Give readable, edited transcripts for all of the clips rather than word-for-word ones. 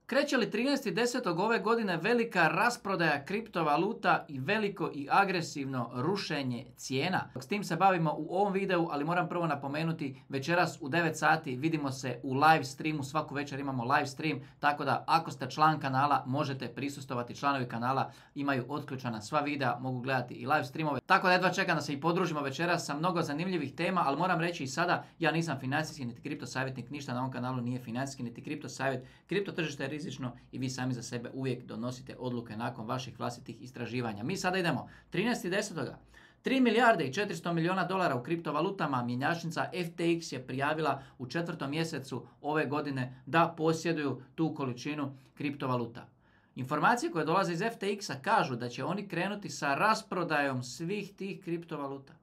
Kreće li 13.10. ove godine velika rasprodaja kriptovaluta i veliko i agresivno rušenje cijena? S tim se bavimo u ovom videu, ali moram prvo napomenuti, večeras u 9 sati vidimo se u live streamu, svaku večer imamo live stream, tako da ako ste član kanala možete prisustvovati. Članovi kanala imaju otključana sva videa, mogu gledati i live streamove, tako da jedva čekam da se i podružimo večeras sa mnogo zanimljivih tema, ali moram reći i sada, ja nisam financijski niti kripto savjetnik, ništa na ovom kanalu nije financijski niti kripto savjet. Kripto tržište je rizično i vi sami za sebe uvijek donosite odluke nakon vaših vlastitih istraživanja. Mi sada idemo 13.10. 3 milijarde i 400 milijuna dolara u kriptovalutama mjenjačnica FTX je prijavila u 4. mjesecu ove godine da posjeduju tu količinu kriptovaluta. Informacije koje dolaze iz FTX-a kažu da će oni krenuti sa rasprodajom svih tih kriptovaluta.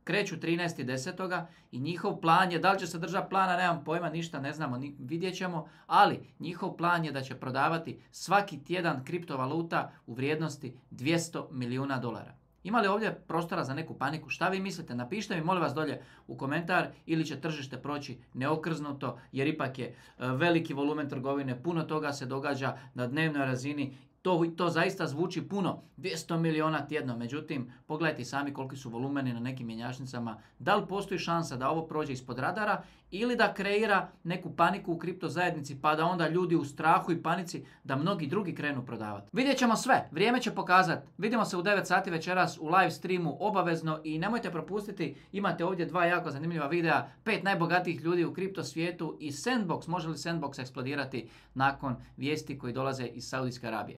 Kreću 13.10. i njihov plan je, da li će se držati plana, nemam pojma, ništa ne znamo, vidjet ćemo, ali njihov plan je da će prodavati svaki tjedan kriptovaluta u vrijednosti 200 milijuna dolara. Ima li ovdje prostora za neku paniku? Šta vi mislite? Napišite mi molim vas dolje u komentar, ili će tržište proći neokrznuto, jer ipak je veliki volumen trgovine, puno toga se događa na dnevnoj razini. To zaista zvuči puno, 200 milijuna tjedno, međutim, pogledajte sami koliki su volumeni na nekim mjenjačnicama. Da li postoji šansa da ovo prođe ispod radara ili da kreira neku paniku u kripto zajednici, pa da onda ljudi u strahu i panici da mnogi drugi krenu prodavati. Vidjet ćemo sve, vrijeme će pokazati. Vidimo se u 9 sati večeras u live streamu obavezno i nemojte propustiti, imate ovdje 2 jako zanimljiva videa, 5 najbogatijih ljudi u kripto svijetu i Sandbox, može li Sandbox eksplodirati nakon vijesti koji dolaze iz Saudijske Arabije.